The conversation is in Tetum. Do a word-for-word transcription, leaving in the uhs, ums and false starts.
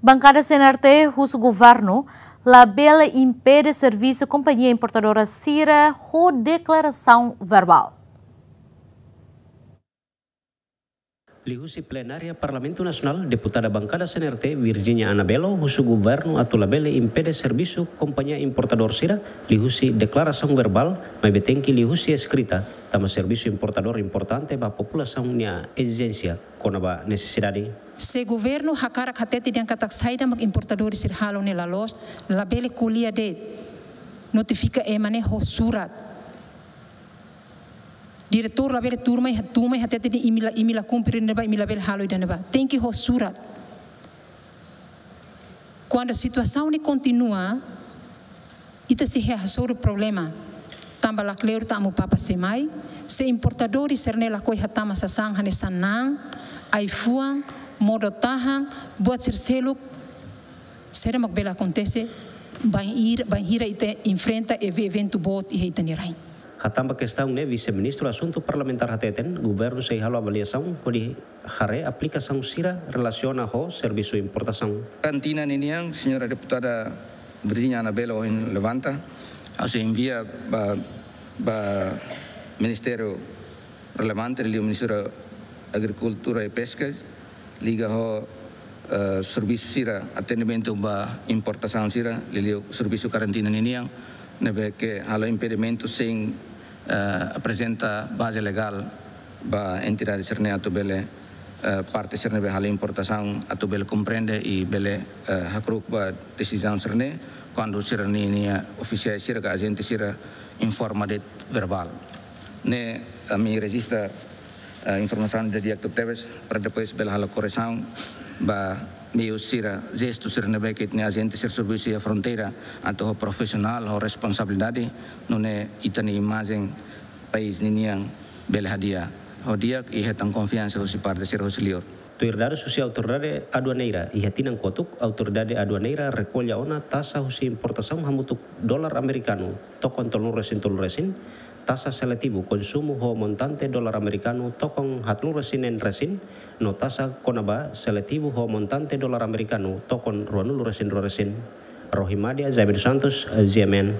Bankada C N R T husu governu labele impede servisu kompañia importadora sira ho deklarasaun verbál. Liuhusi plenária Parlamentu Nasionál, deputada bankada C N R T, Virginia Anabelo, husu governu atu labele impede servisu kompañia importadór sira liuhusi deklarasaun verbál, maibé tenke liuhusi eskrita, tanba servisu importadór importante ba populasaun nia ezijénsia kona-ba nesesidade. Se governu hakarak hatete dehan katak saida mak importadór sira halo ne'e la loos, labele ko'alia de'it, notifika ema ne'e ho surat. Diretór labele tun mai, tun mai hatete dehan imi la, imi la kumpre ne'ebá, imi labele halo ida-ne'ebá. Tenke ho surat. Kuandu situasaun ne'e kontinua, ita sei hasoru problema. Tanba lakleur ita amu papa sei mai, se importadór sira-ne'e lakohi hatama sasán hanesan na'an, ai-fuan, modo tahan, buat sira seluk, saida mak bele akontese, bainhira, bainhira ita enfrenta ev-, eventu boot iha ita-nia rain. Hatán ba kestaun ne'e, Vise-Ministru Asuntu Parlamentár hateten, governu sei halo avaliasaun hodi haree aplikasaun sira relasiona ho servisu importasaun. Karantina ninian, señora deputada Virginia Anabelo ohin levanta, ha'u sei envia ba, ba ministériu relevante, liuliu Ministériu Agrikultura i Peska, liga ho, eh, servisu sira, atendimentu ba importasaun sira, liuliu servisu karantina ninian, ne'ebé ke halo impedimentu sein, eh, aprezenta baze legál ba entidade sira-ne'e atu bele, eh, parte sira ne'ebé halo importasaun atu bele komprende i bele, eh, hakru'uk ba desizaun sira-ne'e, kuandu sira-nia, nia ofisiál sira ka ajente sira informa de'it verbál. Ne'e ami rejista, eh, informasaun ida di'ak tebes para depois bele halo korresaun ba meiu sira, jestu sira ne'ebé ke ita-nia ajente sira servisu iha fronteira atu ho profisionál, ho responsabilidade, nune'e ita-nia imajen país ninian bele hadi'a ho di'ak i hetan konfiansa husi parte sira husi liur. Tuir dadus husi Autoridade Aduaneira, iha tinan kotuk, Autoridade Aduaneira rekolla ona taxa husi importasaun hamutuk dolar amerikanu tokon tolunulu resin tolu resin, taxa seletivu konsumu ho montante dolar amerikanu tokon haatnulu resin neen resin, no taxa kona-ba seletivu ho montante dolar amerikanu tokon ruanulu resin rua resin. Rohimadia Jaime dos Santos, G M N.